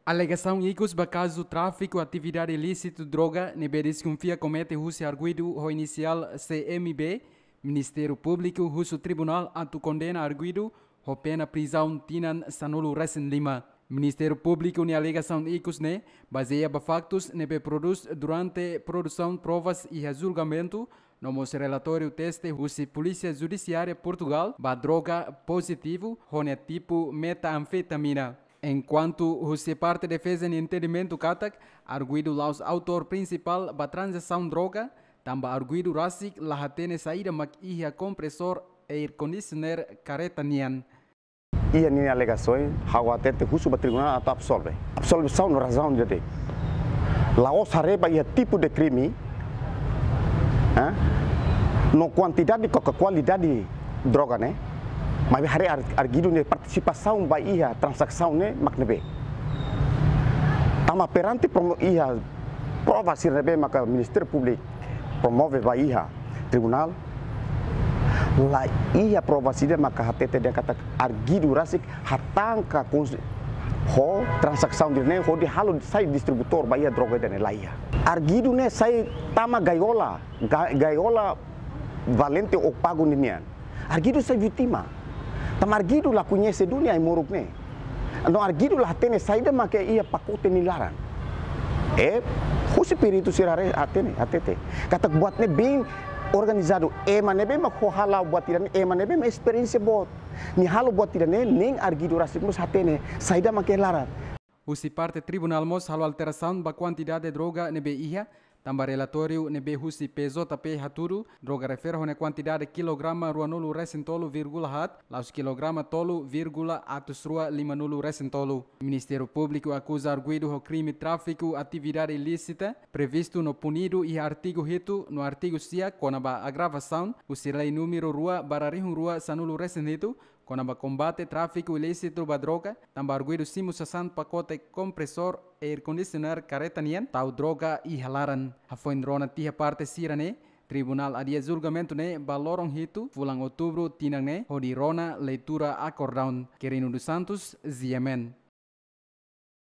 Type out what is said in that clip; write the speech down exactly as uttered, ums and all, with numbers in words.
Alegasaun ikus ba kazu tráfiku atividade ilísitu droga ne'ebé deskonfia komete husi arguidu ho inisiál C M B, Ministériu Públiku husu tribunál atu kondena arguidu ho pena prizaun tinan sanulu resin lima. Ministériu Públiku nia alegasaun ikus ne'e bazeia ba faktus ne'ebé prodús durante produsaun provas iha julgamentu, no mós relatóriu teste husi Polísia Judisiária Portugál ba droga pozitivu ho nia tipu metanfetamina. Enkuantu husi parte defeza nia entendimentu katak arguidu la'ós autór prinsipál ba tranzasaun droga, tanba arguidu rasik la hatene saida mak iha kompresór air conditioner karreta nian. Iha ninia alegasaun, ha'u hatete husu ba tribunál atu absolve. Absolvisaun no razaun ida-ne'e. La'ós haree ba iha tipu de krime, eh? No kuantidade ka kualidade droga ne'e, maibé haree ar-, arguidu nia partisipasaun ba iha tranzasaun ne'e mak ne'ebé. Tanba perante promo-, iha prova sira ne'ebé maka Ministériu Públiku promove ba iha tribunál, la iha prova sira maka hatete dehan katak arguidu rasik hatán ka kons-, ho tranzasaun ida-ne'e hodi halo sai distribuidór ba iha droga ida-ne'e, la iha. Arguidu ne'e sai tama gaiola, ga-, gaiola valente ou pago ninian. Arguidu sai vítima. Tanba arguidu la koñese duni ai-moruk ne'e. No arguidu la hatene saida mak iha pakote nia laran. E, husi peritu sira haree hatene, hatete. Katak buat ne'e bem organizadu, ema ne'ebé mak ho hala'o buat ida-ne'e, ema ne'ebé mak esperiénsia boot. Nia halo buat ida-ne'e, nein arguidu rasik mós hatene saida mak iha laran. Husi parte tribunál mós halo alterasaun ba kuantidade droga ne'ebé iha, tanba relatóriu ne'ebé husi P J P hatudu, droga refere ho nia kuantidade kilograma ruanulu resin tolu vírgula haat, la'ós kilograma tolu vírgula atus rua limanulu resin tolu. Ministériu Públiku akuza arguidu ho krime tráfiku atividade ilísita, previstu no punidu iha artigu hitu no artigu sia kona-ba agravasaun husi lei númeru rua barra rihun rua sanulu resin hitu, kona-ba kombate tráfiku ilísitu ba droga, tanba arguidu simu sasán pakote kompresór air conditioner karreta nian tau droga iha laran. Hafoin rona tiha parte sira-ne'e, tribunál adia julgamentu ne'e ba loron hitu fulan Outubru tinan ne'e, hodi rona leitura akordaun. Quirino dos Santos, G M N.